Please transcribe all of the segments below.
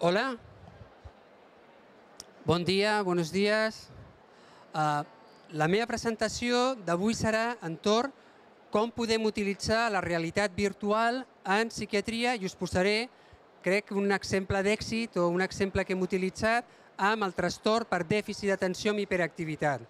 Hola, bon dia, buenos días. La meva presentació d'avui serà entorn com podem utilitzar la realitat virtual en psiquiatria i us posaré, crec, un exemple d'èxit o un exemple que hem utilitzat amb el trastorn per dèficit d'atenció amb hiperactivitat.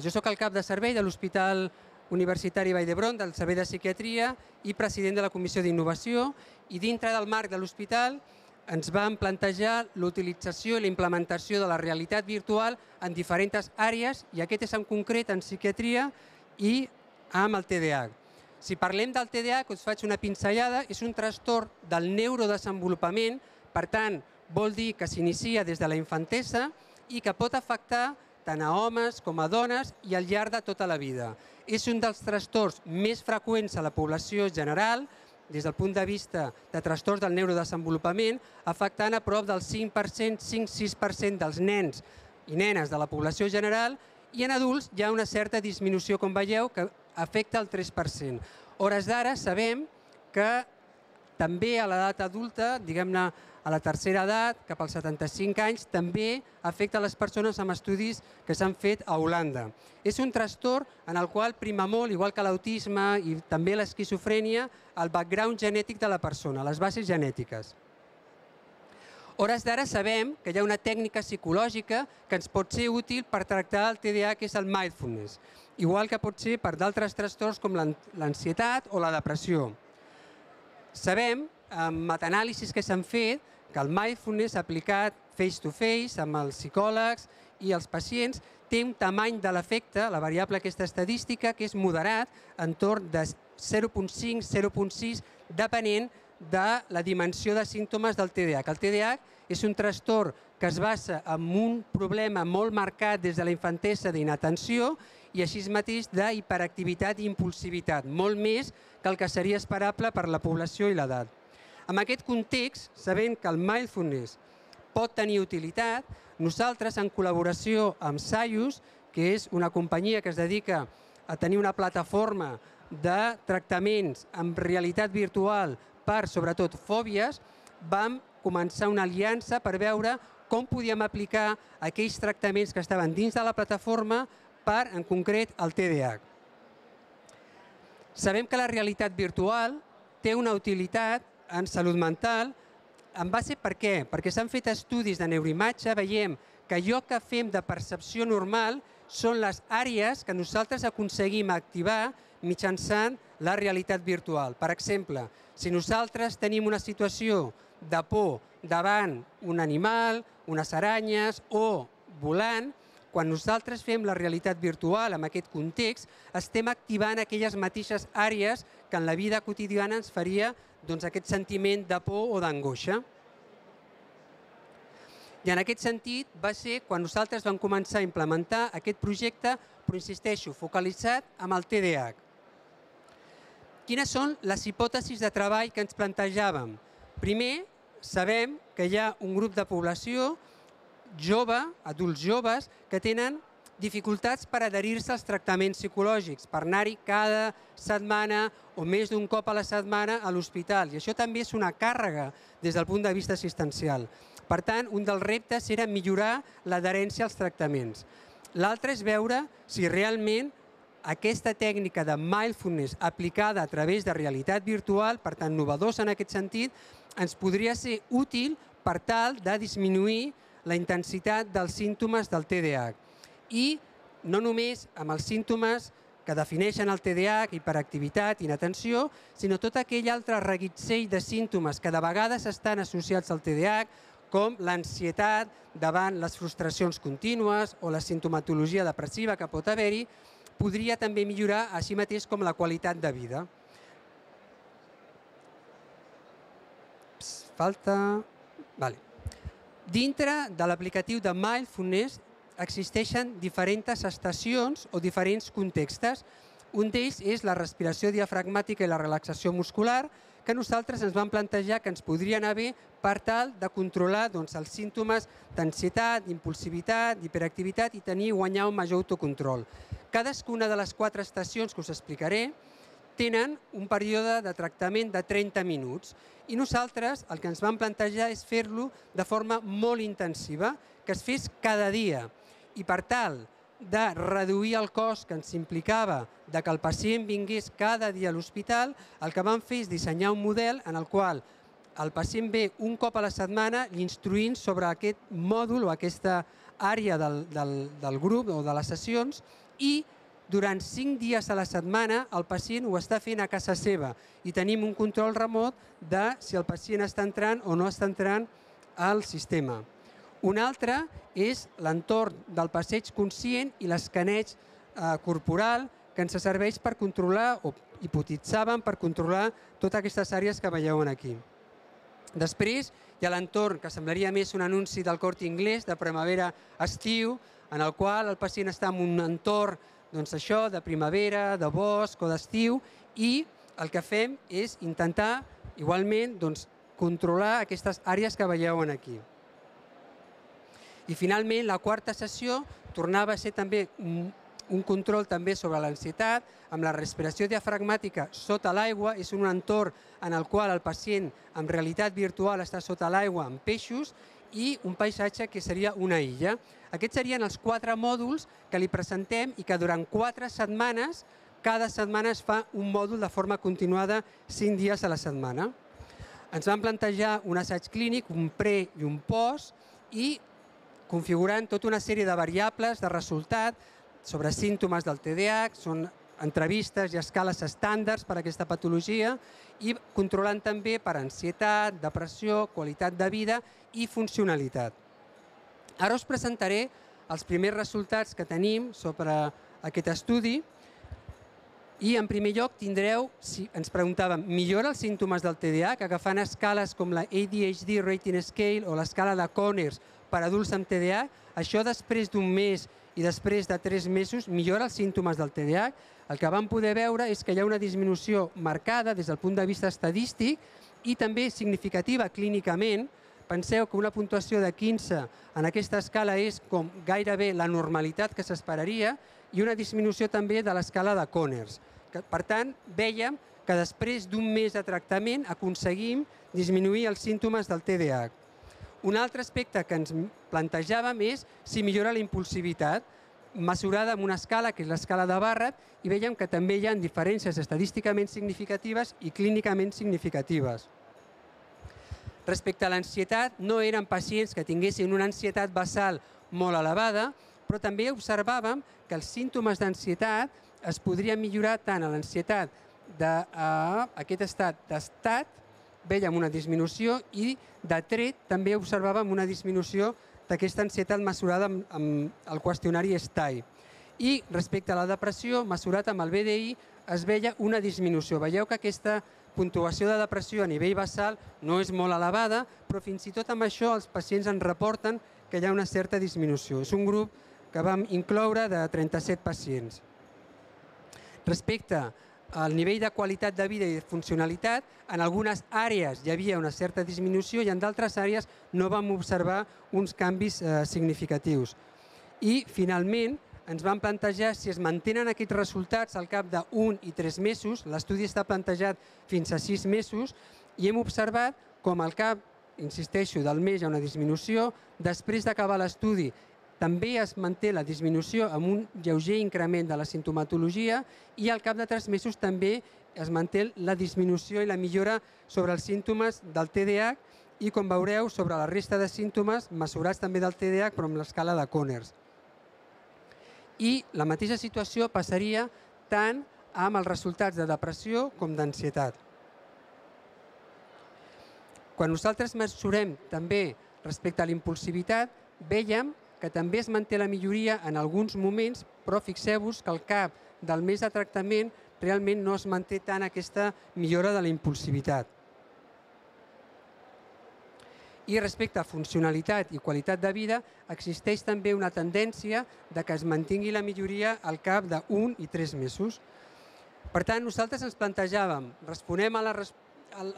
Jo soc el cap de servei de l'Hospital Universitari Vall d'Hebron, del Servei de Psiquiatria i president de la Comissió d'Innovació, i dintre del marc de l'hospital ens vam plantejar l'utilització i la implementació de la realitat virtual en diferents àrees, i aquest és en concret en psiquiatria i amb el TDAH. Si parlem del TDAH, us faig una pinzellada, és un trastorn del neurodesenvolupament, per tant, vol dir que s'inicia des de la infantesa i que pot afectar tant a homes com a dones i al llarg de tota la vida. És un dels trastorns més freqüents a la població general, des del punt de vista de trastorns del neurodesenvolupament, afectant a prop del 5%, 5-6% dels nens i nenes de la població general, i en adults hi ha una certa disminució, com veieu, que afecta el 3%. A hores d'ara sabem que també a l'edat adulta, diguem-ne a la tercera edat, cap als 75 anys, també afecta les persones amb estudis que s'han fet a Holanda. És un trastorn en el qual prima molt, igual que l'autisme i també l'esquizofrènia, el background genètic de la persona, les bases genètiques. A hores d'ara sabem que hi ha una tècnica psicològica que ens pot ser útil per tractar el TDAH, que és el mindfulness, igual que pot ser per d'altres trastorns com l'ansietat o la depressió. Sabem, amb metanàlisis que s'han fet, que el mindfulness aplicat face-to-face amb els psicòlegs i els pacients té un tamany de l'efecte, la variable aquesta estadística, que és moderat, entorn de 0,5-0,6, depenent de la dimensió de símptomes del TDAH. El TDAH és un trastorn que es basa en un problema molt marcat des de la infantesa d'inatenció i així mateix d'hiperactivitat i impulsivitat, molt més que el que seria esperable per la població i l'edat. En aquest context, sabent que el mindfulness pot tenir utilitat, nosaltres, en col·laboració amb Sayus, que és una companyia que es dedica a tenir una plataforma de tractaments amb realitat virtual per, sobretot, fòbies, vam començar una aliança per veure com podíem aplicar aquells tractaments que estaven dins de la plataforma per, en concret, el TDAH. Sabem que la realitat virtual té una utilitat en salut mental, en base per què? Perquè s'han fet estudis de neuroimatge, veiem que allò que fem de percepció normal són les àrees que nosaltres aconseguim activar mitjançant la realitat virtual. Per exemple, si nosaltres tenim una situació de por davant un animal, unes aranyes o volant, quan nosaltres fem la realitat virtual en aquest context, estem activant aquelles mateixes àrees que en la vida quotidiana ens faria aquest sentiment de por o d'angoixa. I en aquest sentit va ser quan nosaltres vam començar a implementar aquest projecte, però insisteixo, focalitzat amb el TDAH. Quines són les hipòtesis de treball que ens plantejàvem? Primer, sabem que hi ha un grup de població jove, adults joves, que tenen dificultats per adherir-se als tractaments psicològics, per anar-hi cada setmana o més d'un cop a la setmana a l'hospital. I això també és una càrrega des del punt de vista assistencial. Per tant, un dels reptes era millorar l'adherència als tractaments. L'altre és veure si realment aquesta tècnica de mindfulness aplicada a través de realitat virtual, per tant, novedosa en aquest sentit, ens podria ser útil per tal de disminuir la intensitat dels símptomes del TDAH. I no només amb els símptomes que defineixen el TDAH, hiperactivitat, inatenció, sinó tot aquell altre reguitzell de símptomes que de vegades estan associats al TDAH, com l'ansietat davant les frustracions contínues o la simptomatologia depressiva que pot haver-hi, podria també millorar així mateix com la qualitat de vida. Dintre de l'aplicatiu de Mindfulness existeixen diferents estacions o diferents contextes. Un d'ells és la respiració diafragmàtica i la relaxació muscular, que nosaltres ens vam plantejar que ens podria anar bé per tal de controlar els símptomes d'ansietat, d'impulsivitat, d'hiperactivitat i guanyar un major autocontrol. Cadascuna de les 4 estacions que us explicaré tenen un període de tractament de 30 minuts. I nosaltres el que ens vam plantejar és fer-lo de forma molt intensiva, que es fes cada dia. I per tal de reduir el cost que ens implicava de que el pacient vingués cada dia a l'hospital, el que vam fer és dissenyar un model en el qual el pacient ve un cop a la setmana instruint sobre aquest mòdul o aquesta àrea del grup o de les sessions i durant 5 dies a la setmana el pacient ho està fent a casa seva i tenim un control remot de si el pacient està entrant o no està entrant al sistema. Un altre és l'entorn del passeig conscient i l'escaneig corporal que ens serveix per controlar, o hipotitzaven per controlar totes aquestes àrees que veieu aquí. Després hi ha l'entorn que semblaria més un anunci del Corte Inglés de primavera-estiu, en el qual el pacient està en un entorn de primavera, de bosc o d'estiu, i el que fem és intentar igualment controlar aquestes àrees que veieu aquí. I finalment la quarta sessió tornava a ser també un control també sobre l'ansietat, amb la respiració diafragmàtica sota l'aigua. És un entorn en el qual el pacient en realitat virtual està sota l'aigua amb peixos i un paisatge que seria una illa. Aquests serien els 4 mòduls que li presentem i que durant 4 setmanes, cada setmana es fa un mòdul de forma continuada 5 dies a la setmana. Ens vam plantejar un assaig clínic, un pre i un post, i configurant tota una sèrie de variables de resultat sobre símptomes del TDAH, són entrevistes i escales estàndards per a aquesta patologia i controlant també per ansietat, depressió, qualitat de vida i funcionalitat. Ara us presentaré els primers resultats que tenim sobre aquest estudi i en primer lloc tindreu, si ens preguntàvem, millora els símptomes del TDAH agafant escales com la ADHD Rating Scale o l'escala de Conners per adults amb TDAH? Això després d'un mes i després de 3 mesos millora els símptomes del TDAH. El que vam poder veure és que hi ha una disminució marcada des del punt de vista estadístic i també significativa clínicament. Penseu que una puntuació de 15 en aquesta escala és com gairebé la normalitat que s'esperaria i una disminució també de l'escala de Conners. Per tant, vèiem que després d'un mes de tractament aconseguim disminuir els símptomes del TDAH. Un altre aspecte que ens plantejàvem és si millora la impulsivitat, mesurada amb una escala, que és l'escala de Barrett, i veiem que també hi ha diferències estadísticament significatives i clínicament significatives. Respecte a l'ansietat, no eren pacients que tinguessin una ansietat basal molt elevada, però també observàvem que els símptomes d'ansietat es podrien millorar tant a l'ansietat d'aquest estat d'estat, vèiem una disminució, i de tret també observàvem una disminució d'aquesta ansietat mesurada amb el qüestionari STAI. I respecte a la depressió, mesurat amb el BDI, es veia una disminució. Veieu que aquesta puntuació de depressió a nivell basal no és molt elevada, però fins i tot amb això els pacients ens reporten que hi ha una certa disminució. És un grup que vam incloure de 37 pacients. Respecte al nivell de qualitat de vida i de funcionalitat, en algunes àrees hi havia una certa disminució i en d'altres àrees no vam observar uns canvis significatius. I, finalment, ens vam plantejar si es mantenen aquests resultats al cap d'1 i 3 mesos, l'estudi està plantejat fins a 6 mesos, i hem observat com al cap, insisteixo, del mes hi ha una disminució, després d'acabar l'estudi també es manté la disminució amb un lleuger increment de la simptomatologia i al cap de 3 mesos també es manté la disminució i la millora sobre els símptomes del TDAH i, com veureu, sobre la resta de símptomes mesurats també del TDAH però amb l'escala de Conners. I la mateixa situació passaria tant amb els resultats de depressió com d'ansietat. Quan nosaltres mesurem també respecte a la impulsivitat, veiem que també es manté la milloria en alguns moments, però fixeu-vos que al cap del mes de tractament realment no es manté tant aquesta millora de la impulsivitat. I respecte a funcionalitat i qualitat de vida, existeix també una tendència de que es mantingui la milloria al cap d'1 i 3 mesos. Per tant, nosaltres ens plantejàvem, responem a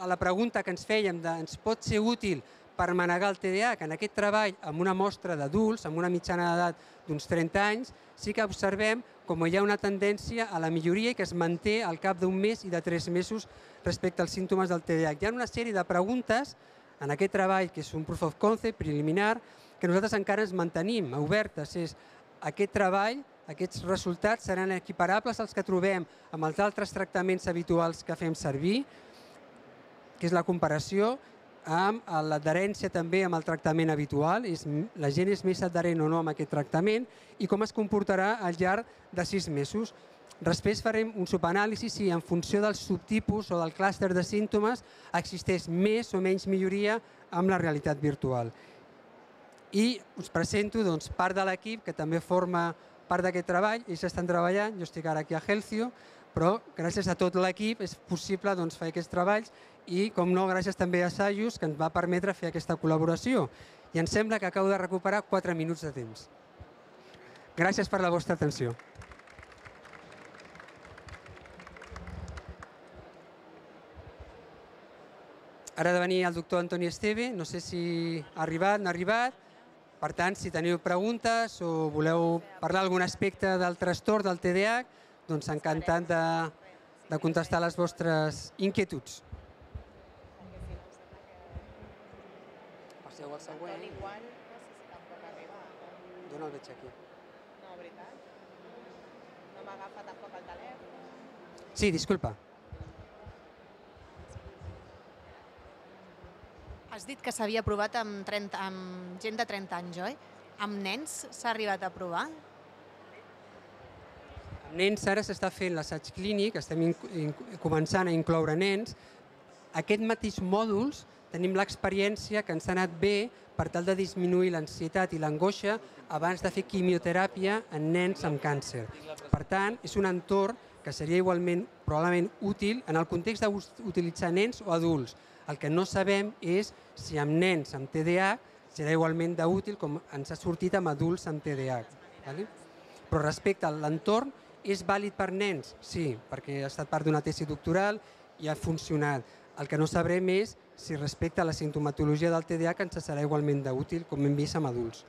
la pregunta que ens fèiem de ens pot ser útil per manegar el TDAH, que en aquest treball amb una mostra d'adults, amb una mitjana d'edat d'uns 30 anys, sí que observem com hi ha una tendència a la milloria i que es manté al cap d'un mes i de 3 mesos respecte als símptomes del TDAH. Hi ha una sèrie de preguntes en aquest treball, que és un proof of concept preliminar, que nosaltres encara ens mantenim obertes. Aquest treball, aquests resultats seran equiparables als que trobem amb els altres tractaments habituals que fem servir, que és la comparació amb l'adherència també amb el tractament habitual, la gent és més adherent o no amb aquest tractament i com es comportarà al llarg de 6 mesos. Després farem un subanàlisi si en funció del subtipus o del clúster de símptomes existeix més o menys milloria amb la realitat virtual. I us presento part de l'equip que també forma part d'aquest treball. Ells estan treballant, jo estic ara aquí a Healthio, però gràcies a tot l'equip és possible fer aquests treballs i, com no, gràcies també a Sajus, que ens va permetre fer aquesta col·laboració. I em sembla que acabo de recuperar 4 minuts de temps. Gràcies per la vostra atenció. Ara ha de venir el doctor Antoni Esteve, no sé si ha arribat, no ha arribat. Per tant, si teniu preguntes o voleu parlar d'algun aspecte del trastorn del TDAH, doncs encantat de contestar les vostres inquietuds. Passeu al següent. Jo no el veig aquí. No, veritat? No m'agafa tampoc el telèfon? Sí, disculpa. Has dit que s'havia provat amb gent de 30 anys, oi? Amb nens s'ha arribat a provar? Amb nens ara s'està fent l'assaig clínic, estem començant a incloure nens. Aquests mateixos mòduls tenim l'experiència que ens ha anat bé per tal de disminuir l'ansietat i l'angoixa abans de fer quimioteràpia en nens amb càncer. Per tant, és un entorn que seria igualment probablement útil en el context d'utilitzar nens o adults. El que no sabem és si amb nens amb TDAH serà igualment d'útil com ens ha sortit amb adults amb TDAH. Però respecte a l'entorn, és vàlid per nens? Sí, perquè ha estat part d'una tesi doctoral i ha funcionat. El que no sabrem és si respecte a la simptomatologia del TDAH ens serà igualment d'útil com hem vist amb adults.